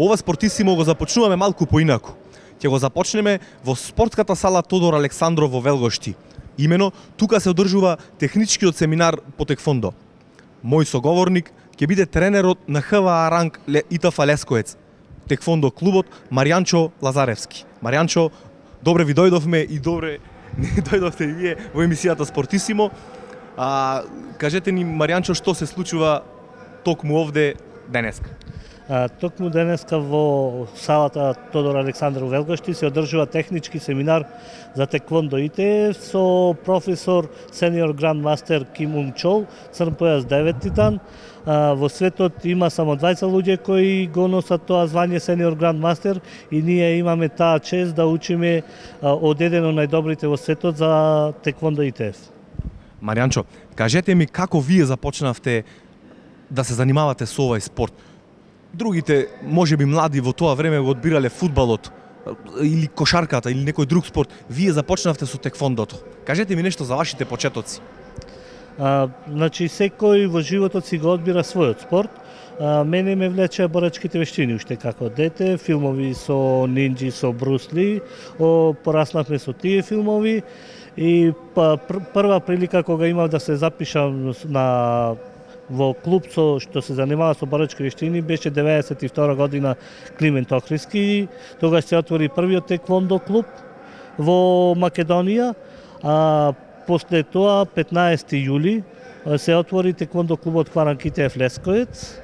Ова Спортисимо го започнуваме малку поинаку. Ќе го започнеме во спортската сала Тодор Александров во Велгошти. Имено, тука се одржува техничкиот семинар по теквондо. Мој соговорник ќе биде тренерот на ХВА ранг ИТФ Лескоец, теквондо клубот Маријанчо Лазаревски. Маријанчо, добре ви дојдовме и добре дојдовте и вие во емисијата Спортисимо. Кажете ни, Маријанчо, што се случува токму овде денеска? Токму денеска во салата Тодор Александров Велгошти се одржува технички семинар за теквондо ИТФ со професор сениор грандмастер Ким Унг Чол, црн појас 9 дан. Во светот има само 20 луѓе кои го носат тоа звање сениор грандмастер и ние имаме таа чест да учиме од еден од најдобрите во светот за теквондо ИТФ. Маријанчо, кажете ми како вие започнавте да се занимавате со овој спорт? Другите, можеби млади во тоа време го одбирале фудбалот или кошарката или некој друг спорт. Вие започнавте со теквондото. Кажете ми нешто за вашите почетоци. Значи, секој во животот си го одбира својот спорт. Мене ме влечеа борачките вештини уште како дете, филмови со нинџи, со Брусли, пораснавме со тие филмови и прва прилика кога имав да се запишам во клуб што се занимава со борачки вештини беше 92 година Климент Охриски. Тогаш се отвори првиот теквондо клуб во Македонија, а после тоа 15 јули се отвори теквондо клубот ХВА ИТФ Лескоец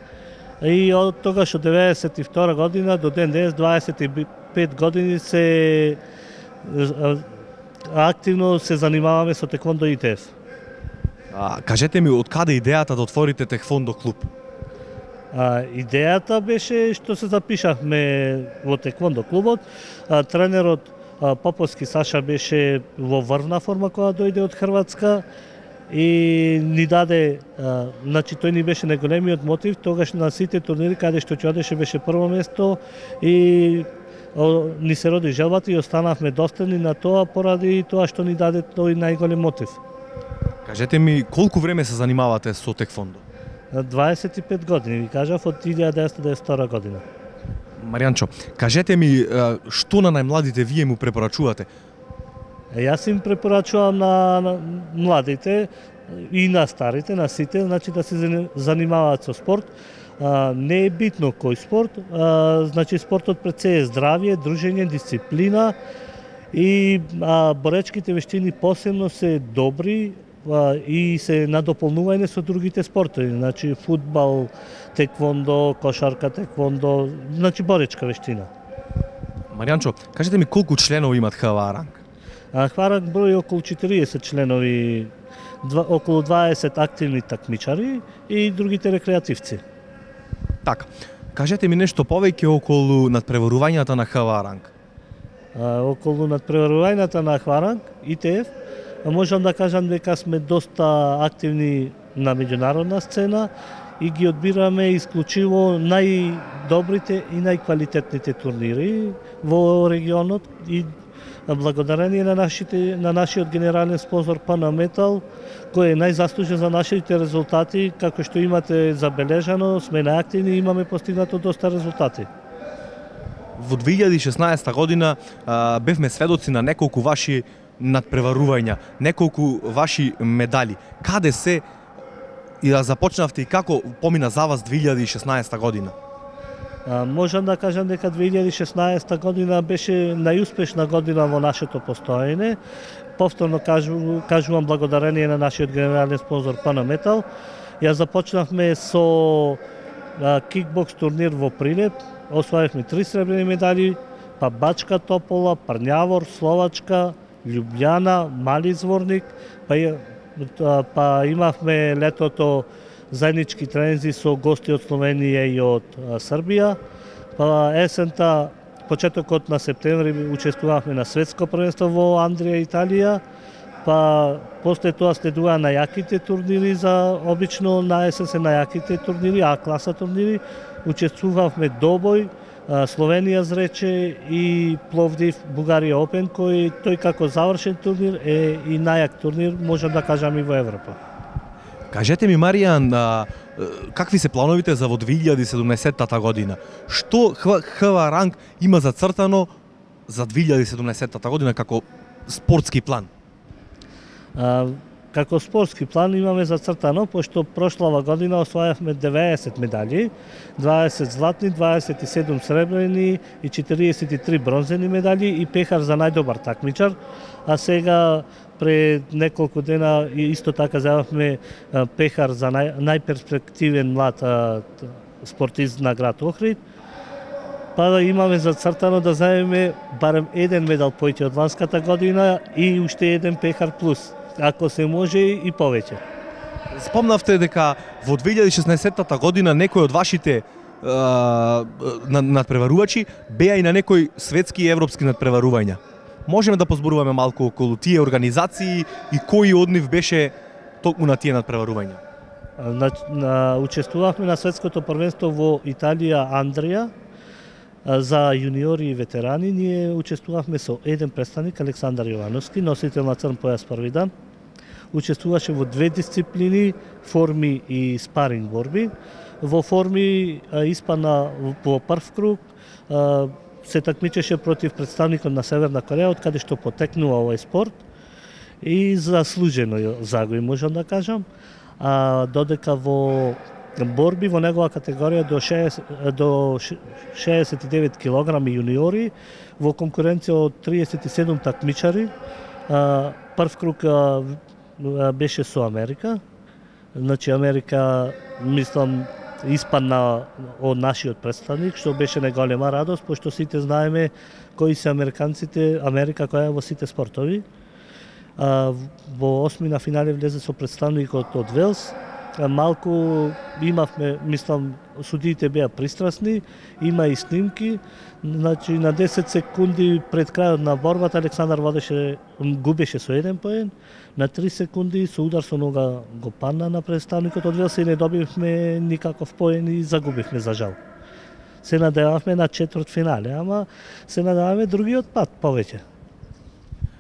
и од тогаш од 92 година до ден денес 25 години се активно се занимаваме со теквондо ИТФ. Кажете ми, од каде идејата да отворите теквондо клуб? Идејата беше што се запишавме во теквондо клубот. Тренерот Поповски Саша беше во врвна форма кога дојде од Хрватска и ни даде, значи тој ни беше најголемиот мотив, тогаш на сите турнири каде што ќе одеше беше прво место и ни се роди желбата и останавме достојни на тоа поради тоа што ни даде тој најголем мотив. Кажете ми, колку време се занимавате со теквондо? 25 години, ви кажав, од 1992 година. Маријанчо, кажете ми, што на најмладите вие му препорачувате? Јас им препорачувам на младите и на старите, на сите, значи да се занимаваат со спорт. Не е битно кој спорт, значи спортот пред се е здравје, дружење, дисциплина и боречките вештини посебно се добри и се надополнување со другите спортови, значи фудбал, теквондо, кошарка, теквондо, значи боречка вештина. Маријанчо, кажете ми колку членови имат ХВА ранг? ХВА ранг брои околу 40 членови, околу 20 активни такмичари и другите рекреативци. Така, кажете ми нешто повеќе околу надпреварувањата на ХВА ранг. Околу надпреварувањата на ХВА ранг, ИТФ, можам да кажам дека сме доста активни на меѓународна сцена и ги одбираме исклучиво најдобрите и најквалитетните турнири во регионот и благодарение на нашиот генерален спонзор Панаметал, кој е најзаслужен за нашите резултати, како што имате забележано, сме најактивни и имаме постигнато доста резултати. Во 2016 година бевме сведоци на неколку ваши надпреварувања, неколку ваши медали. Каде се и да започнавте и како помина за вас 2016 година? Можам да кажам дека 2016 година беше најуспешна година во нашето постоење. Повторно кажувам благодарение на нашиот генерален спонзор Панаметал. Ја започнавме со кикбокс турнир во Прилеп, освоивме 3 сребрени медали, па Бачка Топола, Парњавор, Словачка, Љубљана, Мали Зворник, па имавме летото заеднички тренинзи со гости од Словенија и од Србија, па есента, почетокот на септември учествувавме на светско првенство во Андрија, Италија, па после тоа следува најаките турнири, обично на есен се најаките турнири, А класа турнири, учествувавме Добој, Словенија зрече и Пловдив Бугарија Опен, кој тој како завршен турнир е и најак турнир, можам да кажам и во Европа. Кажете ми, Маријан, какви се плановите за во 2017 година? Што ХВ Ранг има зацртано за 2017 година како спортски план? Како спортски план имаме зацртано, пошто прошлава година освојавме 90 медали, 20 златни, 27 сребрени и 43 бронзени медали и пехар за најдобар такмичар, а сега пред неколку дена исто така зајавме пехар за најперспективен млад спортист на град Охрид. Па да имаме зацртано да зајавиме барем еден медал поеќе од ланската година и уште еден пехар плюс, ако се може и повеќе. Спомнавте дека во 2016 година некој од вашите надпреварувачи беа и на некои светски и европски надпреварувања. Можеме да позборуваме малку околу тие организации и кој од нив беше токму на тие надпреварувања? Учествувавме на светското првенство во Италија, Андрија, за јуниори и ветерани. Ние учествувавме со еден представник, Александар Јовановски, носител на црн појас први дан. Учествуваше во две дисциплини, форми и спаринг борби. Во форми испадна во прв круг, се такмичеше против представникот на Северна Кореја, од каде што потекнува овој спорт и заслужено загуби, можам да кажам. Додека во борби во негова категорија до 69 кг јуниори, во конкуренција од 37 такмичари, прв круг беше со Америка. Значи Америка, мислам, испадна од нашиот представник, што беше неголема радост, пошто сите знаеме кои се американците, Америка која е во сите спортови. Во осмина финале влезе со представникот од Велс. Малку имавме, мислам, судиите беа пристрасни, има и снимки. Значи на 10 секунди пред крајот на борбата Александар губеше со 1 поен. На 3 секунди со удар со нога го падна на представникот од Велс и не добивме никаков поен и загубивме за жал. Се надевавме на четврт финале, ама се надеваме другиот пат повеќе.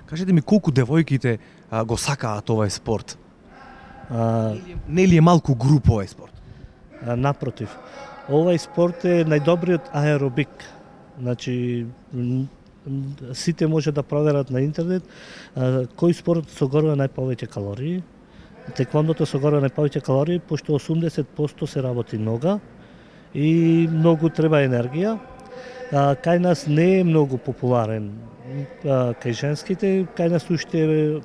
Кажете ми колку девојките го сакаат овој спорт? Не ли е малку груп овој спорт? Напротив, овој спорт е најдобриот аеробик. Значи, сите може да проверат на интернет кој спорт согорува најповеќе калории. Теквондото согорува најповеќе калории, пошто 80% се работи нога и многу треба енергија. Кај нас не е многу популарен кај женските, кај нас уште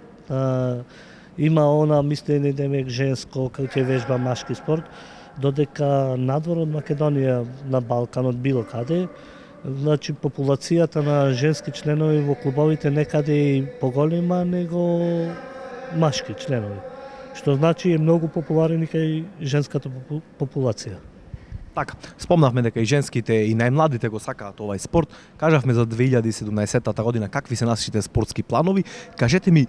има она мислење демек женско кај ќе вежба машки спорт, додека надвор од Македонија, на Балканот, било каде, значи популацијата на женски членови во клубовите некаде и поголема него машки членови, што значи е многу популарен и кај женската популација. Така, спомнавме дека и женските и најмладите го сакаат овој спорт. Кажавме за 2017 година какви се нашите спортски планови. Кажете ми,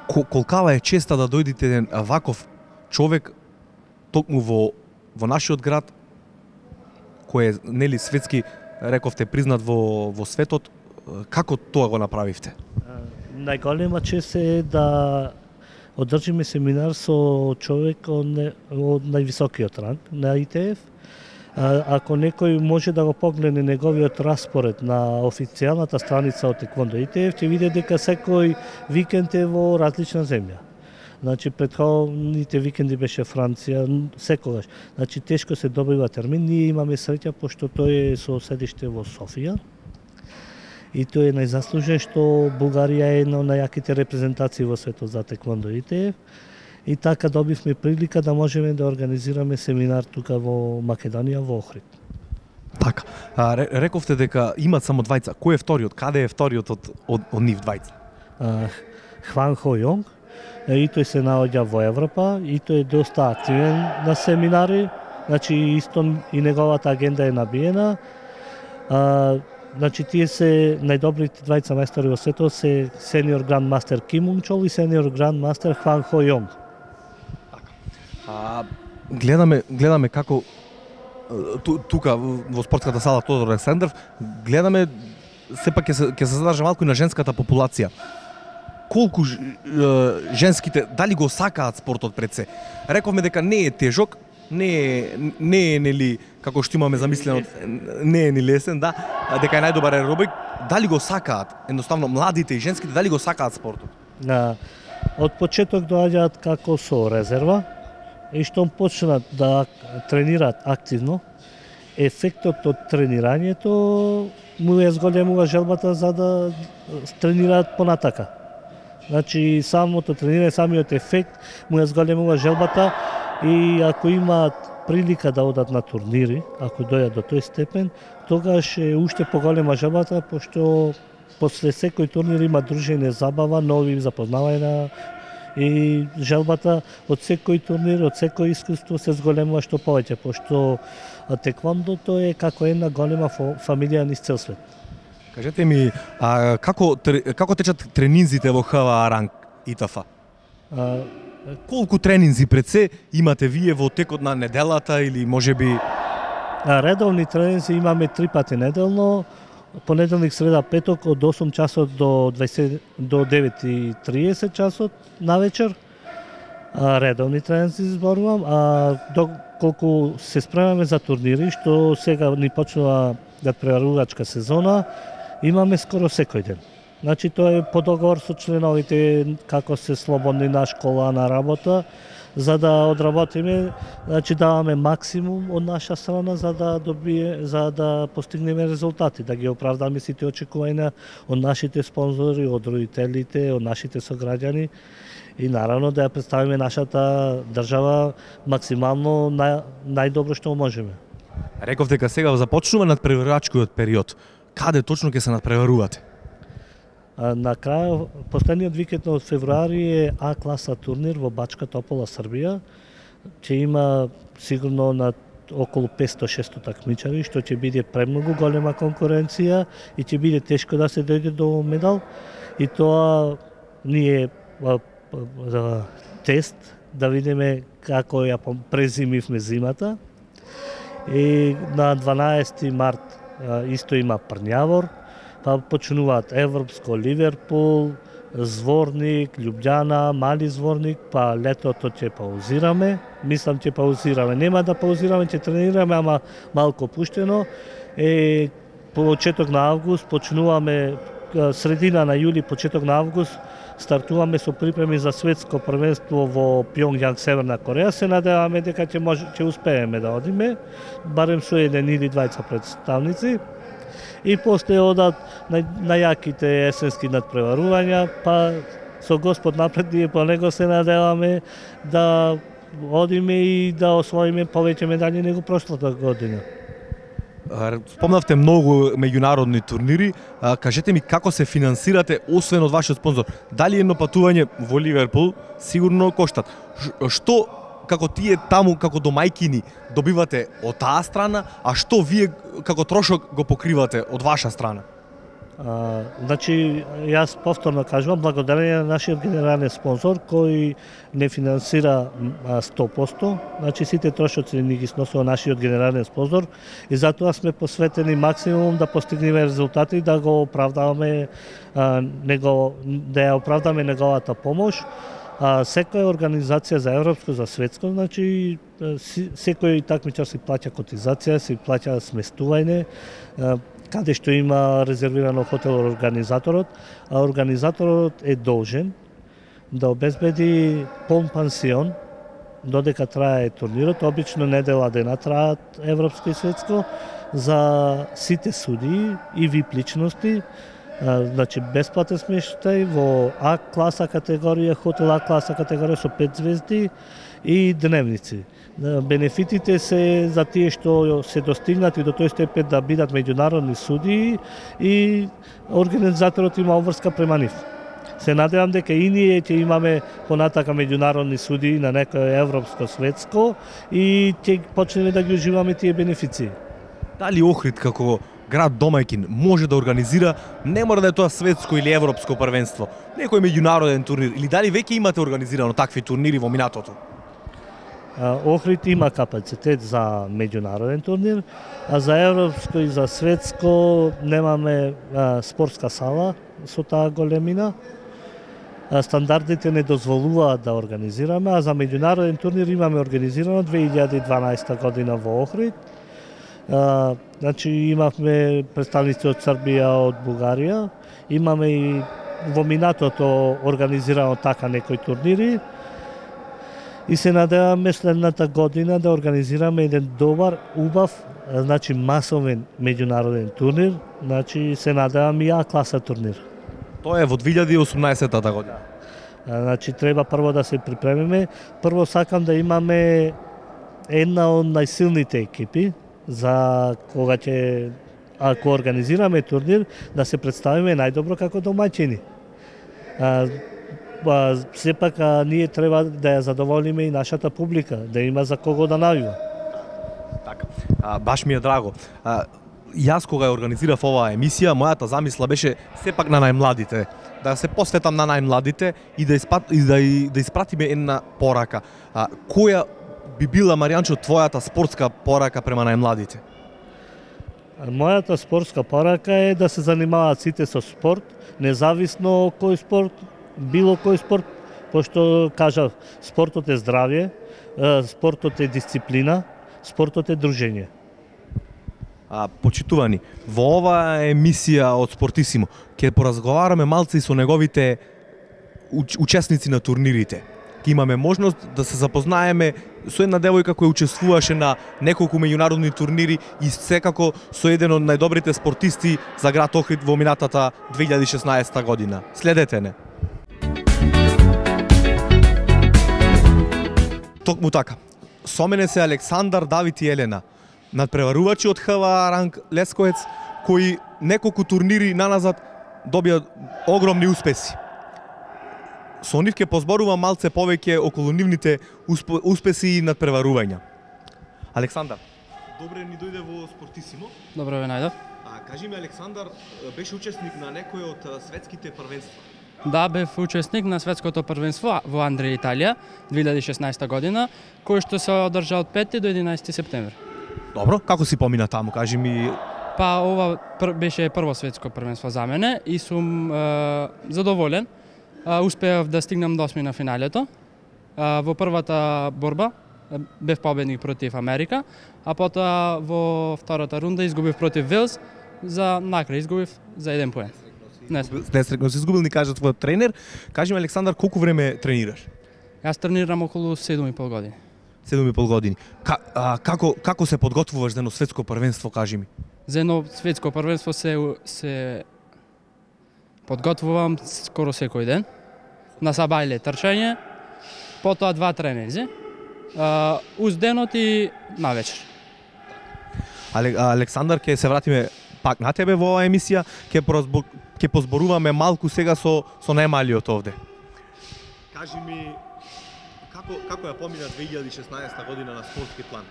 колкава е честа да дојдете еден ваков човек токму во нашиот град, кој е нели светски, рековте, признат во светот, како тоа го направивте? Најголема чест е да одржиме семинар со човек од највисокиот ранг на ИТФ. Ако некој може да го погледне неговиот распоред на официјалната страница од Теквондо ИТФ, ќе види дека секој викенд е во различна земја. Значи претходните викенди беше Франција, секогаш. Значи тешко се добива термин. Ние имаме среќа пошто тој е со седиште во Софија. И тој е најзаслужен што Бугарија е една од најаките репрезентации во светот за Теквондо ИТФ. И така добивме прилика да можеме да организираме семинар тука во Македонија, во Охрид. Така, рековте дека имат само двајца. Кој е вториот? Каде е вториот од нив двајца? Хван Хо Јонг. И тој се наоѓа во Европа и тој е доста активен на семинари. Значи исто и неговата агенда е набиена. Значи тие се најдобрите двајца мајстори во светот се сениор гранд мастер Ким Ун Чол и сениор гранд мастер Хван Хо Јонг. Гледаме како тука во спортската сала Тодор Александров, гледаме сепак ќе се задржа малку и на женската популација. Колку женските, дали го сакаат спортот пред се? Рековме дека не е тежок, не е нели како што имаме замислено, не е ни лесен, да, дека е најдобар аеробик. Дали го сакаат? Едноставно младите и женските дали го сакаат спортот? Од почеток доаѓаат како со резерва и штом почнат да тренираат активно, ефектот од тренирањето му ја зголемува желбата за да тренираат понатака. Значи самото тренирање, самиот ефект му ја зголемува желбата и ако имаат прилика да одат на турнири, ако дојдат до тој степен, тогаш е уште поголема желбата, пошто после секој турнир има дружење, забава, нови запознавања и желбата од секој турнир, од секој искуство се зголемува што повеќе, пошто теквондото е како една голема фамилија низ цел свет. Кажете ми, како течат тренинзите во ХВА Ранг ИТФ? Колку тренинзи пред се имате вие во текот на неделата или можеби? Редовни тренинзи имаме 3 пати неделно, понеделник, среда, петок од 8 часот до 9:30 часот на вечер. Редовни тренинзи зборувам, доколку се спремаме за турнири, што сега ни почнува надпреварувачка сезона, имаме скоро секој ден. Значи тоа е по договор со членовите, како се слободни на школа, на работа, за да одработиме, значи даваме максимум од наша страна за да постигнеме резултати, да ги оправдаме сите очекувања од нашите спонзори, од родителите, од нашите сограѓани и наравно да ја представиме нашата држава максимално најдобро што можеме. Реков дека сега започнува надпреварувачкиот период. Каде точно ќе се надпреварувате? На крај, последниот викенд од февруари е А класа турнир во Бачка Топола, Србија. Ќе има сигурно на околу 500-600 такмичари, што ќе биде премногу голема конкуренција и ќе биде тешко да се дојде до медал. И тоа ние тест да видиме како ја презимивме зимата. И на 12 март исто има Прњавор, па почнуваат Европско, Ливерпул, Зворник, Љубљана, Мали Зворник, па летото ќе паузираме. Мислам ќе паузираме. Нема да паузираме, ќе тренираме, ама малку опуштено. Почеток на август почнуваме, средина на јули, почеток на август, стартуваме со припреми за светско првенство во Пјонгјанг, Северна Кореја. Се надеваме дека ќе успееме да одиме, барем со еден или двајца представници. И после одат најаките есенски надпреварувања, па со Господ напред ние по него се надеваме да одиме и да освоиме повеќе медали него прошлата година. Спомнавте многу меѓународни турнири, кажете ми како се финансирате освен од вашиот спонзор? Дали едно патување во Ливерпул сигурно коштат? Што како тие таму како домајкини добивате од таа страна, а што вие како трошок го покривате од ваша страна? Значи, јас повторно кажувам, благодарение на нашиот генерален спонзор кој не финансира 100%, значи сите трошоци ни ги сносува нашиот генерален спонзор и затоа сме посветени максимум да постигнеме резултати, да го оправдаваме да ја оправдаме неговата помош. Секоја организација за европско, за светско, значи секој такмичар си плаќа котизација, си плаќа сместување, каде што има резервирано хотел организаторот, а организаторот е должен да обезбеди полн пансион додека трае турнирот, обично недела дена траат европско и светско, за сите судии и вип личности. Значи бесплатен смештај во А класа категорија, хотел А класа категорија со 5 звезди и дневници. Бенефитите се за тие што се достигнати до тој степен да бидат меѓународни судии и организаторот има обврска према нив. Се надевам дека и ние ќе имаме понатака меѓународни судии на некој европско, светско и ќе почнеме да ги уживаме тие бенефиции. Дали Охрид како град домајкин може да организира, не мора да е тоа светско или европско првенство, некој меѓународен турнир, или дали веќе имате организирано такви турнири во минатото? Охрид има капацитет за меѓународен турнир, а за европско и за светско немаме спортска сала со таа големина. Стандардите не дозволуваат да организираме, а за меѓународен турнир имаме организирано 2012 година во Охрид. Значи имавме представници од Србија, од Бугарија, имаме и во минатото организирано така некои турнири и се надеваме следната година да организираме еден добар, убав, значи масовен меѓународен турнир, значи се надеваме и А класа турнир. Тоа е во 2018 година. Значи треба прво да се припремиме, прво сакам да имаме една од најсилните екипи за кога ќе ако организираме турнир да се представиме најдобро како домаќини. Сепак ние треба да ја задоволиме и нашата публика, да има за кого да навива. Така, баш ми е драго. Јас кога ја организирав оваа емисија, мојата замисла беше сепак на најмладите, да се посветам на најмладите и да испратиме една порака. Која би била, Маријанчо, твојата спортска порака према најмладите? Мојата спортска порака е да се занимаваат сите со спорт, независно кој спорт, било кој спорт, пошто кажав, спортот е здравје, спортот е дисциплина, спортот е дружење. Почитувани, во оваа емисија од Спортисимо ќе поразговараме малце и со неговите учесници на турнирите. Ќе имаме можност да се запознаеме со една девојка која учествуваше на неколку меѓународни турнири и секако со еден од најдобрите спортисти за град Охрид во минатата 2016 година. Следете не. Токму така. Со мене се Александар, Давид и Елена, надпреварувачи од ХВА ранг Лесковец, кои неколку турнири наназад добија огромни успеси. Со нив ќе позборувам малце повеќе околу нивните успеси и надпреварувања. Александар, добре ни дојде во Спортисимо. Добро ве најдов. Кажи ми, Александар, беше учесник на некој од светските првенства? Да, бев учесник на светското првенство во Андрија, Италија, 2016 година, кој што се одржа од 5 до 11 септември. Добро, како си помина таму, кажи ми? Па ова беше прво светско првенство за мене и сум задоволен. Успеав да стигнам до 8 на финалето. Во првата борба бев победник против Америка, а потоа во втората рунда изгубив против Велс, за накрај изгубив за 1 поен. Несрекно си изгубил, ни кажа твојот тренер. Кажи ми, Александар, колку време тренираш? Јас тренирам околу 7,5 години. 7,5 години. Како се подготвуваш за едно светско првенство, кажи ми? За едно светско првенство се подготвувам скоро секој ден. На сабајле трчање, потоа 2 тренинзи, уз денот и навечер. Александар, ќе се вратиме пак на тебе во оваа емисија, ќе позборуваме малку сега со најмалиот овде. Кажи ми, како ја помина 2016 година на спортски план?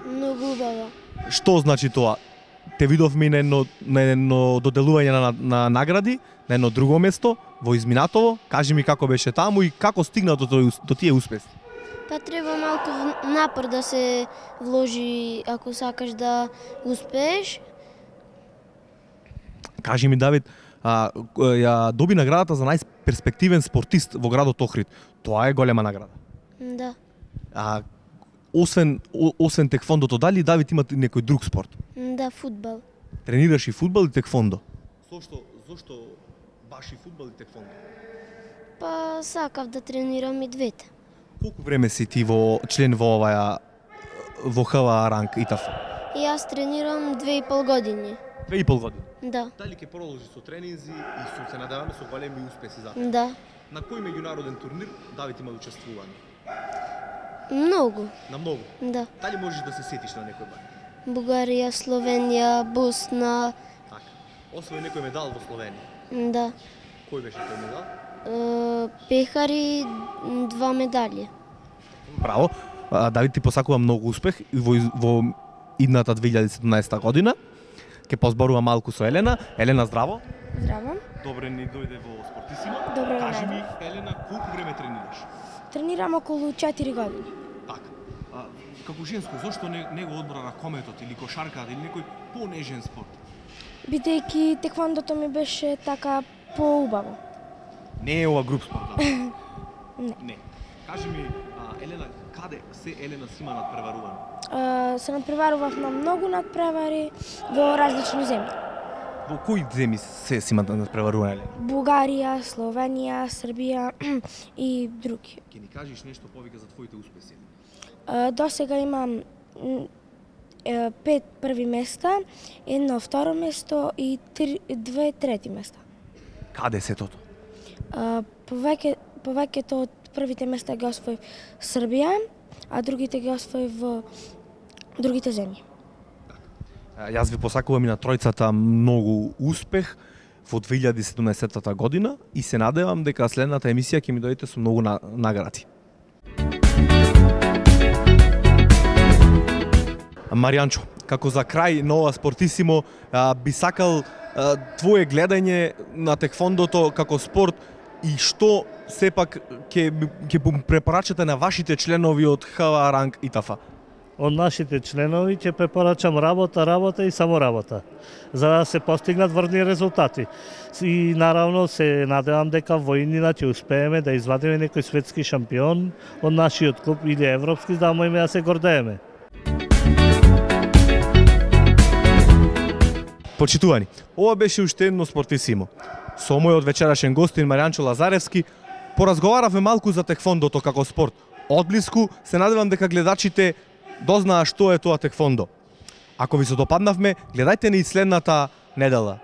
Многу убава. Што значи тоа? Те видовме на едно доделување на награди, на едно друго место, во изминатово. Кажи ми како беше таму и како стигна до тие успеси? Па треба малку напор да се вложи ако сакаш да успееш. Кажи ми, Давид, ја доби наградата за најперспективен спортист во градот Охрид. Тоа е голема награда. Да. Освен текфондото, дали Давид има некој друг спорт? Да, фудбал. Тренираш и фудбал и текфондо? Зошто баш и фудбал и текфондо? Па сакав да тренирам и двете. Колку време си ти член во ХВА ранг ИТАФ? Јас тренирам 2,5 години. 2,5 години? Да. Дали ќе продолжи со тренинзи и се надеваме со големи успеси за? Да. На кој меѓународен турнир Давид има учествување? Многу. На многу? Да. Дали можеш да се сетиш на некој бар? Бугарија, Словенија, Босна. Така. Освои некој медал во Словенија? Да. Кој беше тој медал? Пехари 2 медали. Браво. Давид, ти посакува многу успех во идната 2017 година. Ке позборува малку со Елена. Елена, здраво. Здраво. Добре ни дојде во Спортисимо. Добро. Кажи ми, Елена, колку време тренираш? Тренирам околу 4 години. Така. Како женско, зошто не го одбра ракометот или кошарката или некој понежен спорт? Бидејќи теквондото ми беше така поубаво. Не е ова груп спорт. Не. Не. Кажи ми, Елена, каде се Елена си има надпреварувано? Се надпреварував на многу надпревари во различни земји. Во кои земји се си има надпреварувано? Бугарија, Словенија, Србија и други. Ќе ни кажеш нешто повеќе за твоите успеси? До сега имам 5 први места, 1 второ место и 2 трети места. Каде се тото? Повеќето од првите места ги освоив Србија, а другите ги освоив во другите земји. Јас ви посакувам и на тројцата многу успех во 2017 година и се надевам дека следната емисија ќе ми дојдете со многу награди. Маријанчо, како за крај на ова Спортисимо, би сакал твое гледање на теквондото како спорт и што сепак ќе препорачате на вашите членови од ХВА Ранг ИТАФ-а? Од нашите членови ќе препорачам работа и само работа, за да се постигнат врни резултати. И наравно се надевам дека во иднина ќе успееме да извадиме некој светски шампион од нашиот клуб или европски, за да можеме да се гордееме. Почитувани, ова беше уште едно Спортисимо. Со мојот вечерашен гостин Маријанчо Лазаревски поразговаравме малку за теквондото како спорт. Одблиску се надевам дека гледачите дознаа што е тоа теквондо. Ако ви се допаднавме, гледајте ни следната недела.